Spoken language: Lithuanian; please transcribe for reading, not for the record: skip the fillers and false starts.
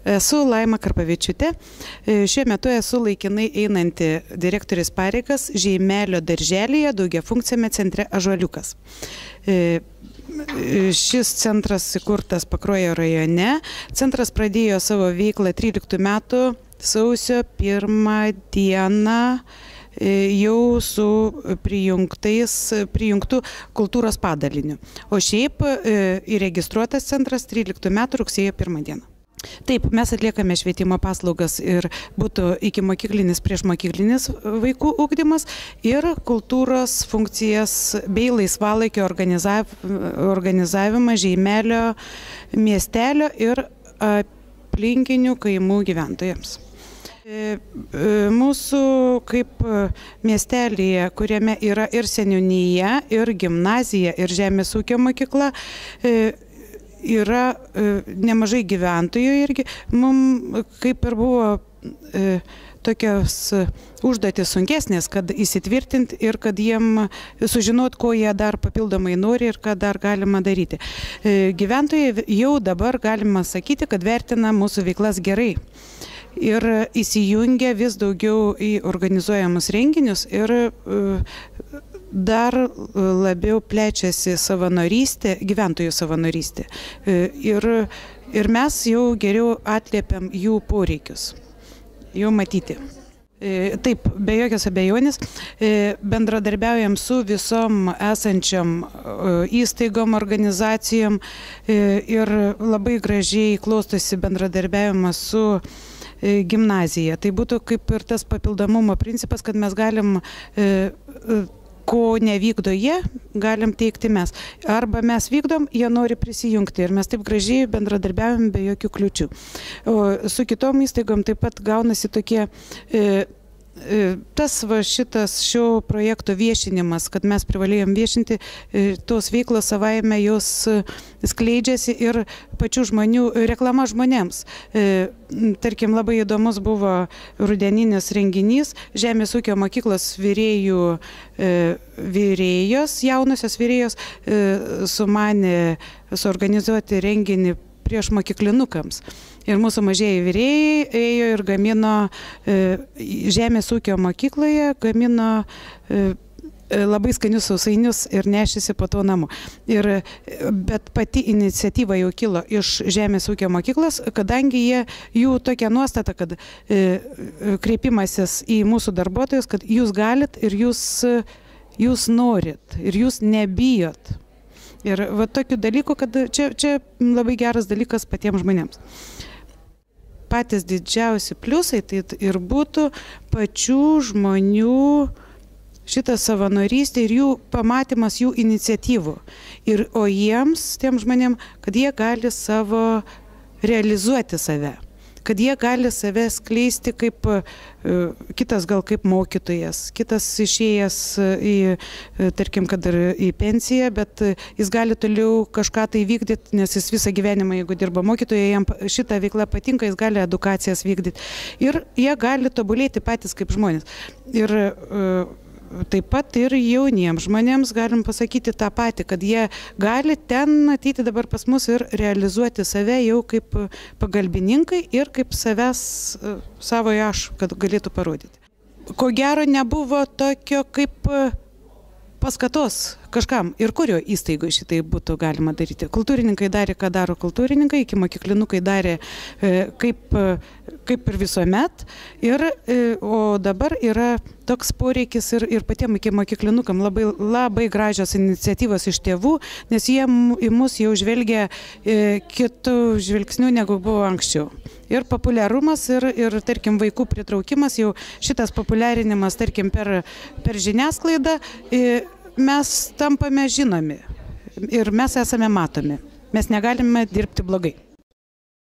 Esu Laima Karpavičiūtė. Šiuo metu esu laikinai einanti direktorės pareigas Žeimelio darželyje daugiafunkciame centre Ąžuoliukas. Šis centras įkurtas Pakruojo rajone. Centras pradėjo savo veiklą 13 metų sausio 1 dieną jau su prijungtu kultūros padaliniu. O šiaip įregistruotas centras 13 metų rugsėjo 1 dieną. Taip, mes atliekame švietimo paslaugas ir būtų ikimokyklinis, priešmokyklinis vaikų ugdymas ir kultūros funkcijas bei laisvalaikio organizavimą Žeimelio miestelio ir aplinkinių kaimų gyventojams. Mūsų kaip miestelėje, kuriame yra ir seniūnija, ir gimnazija, ir žemės ūkio mokykla, yra nemažai gyventojų irgi. Mums kaip ir buvo tokios užduotis sunkesnės, kad įsitvirtinti ir kad jiem sužinot, ko jie dar papildomai nori ir ką dar galima daryti. Gyventojai jau dabar galima sakyti, kad vertina mūsų veiklas gerai. Ir įsijungia vis daugiau į organizuojamus renginius ir dar labiau plečiasi savanorystė, gyventojų savanorystė. Ir mes jau geriau atliepiam jų poreikius, jau matyti. Taip, be jokios abejonės, bendradarbiaujam su visom esančiam įstaigom, organizacijom ir labai gražiai klostosi bendradarbiavimas su gimnazija. Tai būtų kaip ir tas papildomumo principas, kad mes galim, ko nevykdo jie, galim teikti mes. Arba mes vykdom, jie nori prisijungti ir mes taip gražiai bendradarbiavim be jokių kliūčių. O su kitom įstaigom taip pat gaunasi tokie šitas šio projekto viešinimas, kad mes privalėjom viešinti, tos veiklos savaime jos skleidžiasi ir pačių žmonių, reklama žmonėms. Tarkim, labai įdomus buvo rudeninis renginys, Žemės ūkio mokyklos virėjos, jaunosios virėjos sumanė suorganizuoti renginį prieš mokyklinukams. Ir mūsų mažieji virėjai ėjo ir gamino Žemės ūkio mokykloje, gamino labai skanius sausainius ir nešėsi po to namo. Bet pati iniciatyva jau kilo iš Žemės ūkio mokyklos, kadangi jų tokia nuostata, kad kreipimasis į mūsų darbuotojus, kad jūs galit ir jūs norit ir jūs nebijot. Ir va tokių dalykų, kad čia labai geras dalykas patiems žmonėms. Patys didžiausi pliusai tai ir būtų pačių žmonių šitą savanorystę ir jų pamatymas, jų iniciatyvų. O jiems, tiem žmonėm, kad jie gali realizuoti save. Kad jie gali save skleisti kaip kitas gal kaip mokytojas, kitas išėjęs tarkim, kad ir į pensiją, bet jis gali toliau kažką tai vykdyti, nes jis visą gyvenimą, jeigu dirba mokytoja, jam šitą veiklą patinka, jis gali edukacijas vykdyti. Ir jie gali tobulėti patys kaip žmonės. Ir taip pat ir jauniems žmonėms galim pasakyti tą patį, kad jie gali ten ateiti dabar pas mus ir realizuoti save jau kaip pagalbininkai ir kaip savojo aš, kad galėtų parodyti. Ko gero nebuvo tokio kaip paskatos kažkam ir kurio įstaigoje šitai būtų galima daryti. Kultūrininkai darė, ką daro kultūrininkai, ikimokyklinukai darė kaip ir visuomet. O dabar yra toks poreikis ir patiem ikimokyklinukam labai gražios iniciatyvos iš tėvų, nes jie į mus jau žvelgia kitų žvilgsnių negu buvo anksčiau. Ir populiarumas ir tarkim vaikų pritraukimas, jau šitas populiarinimas tarkim per žiniasklaidą, mes tampame žinomi ir mes esame matomi. Mes negalime dirbti blogai.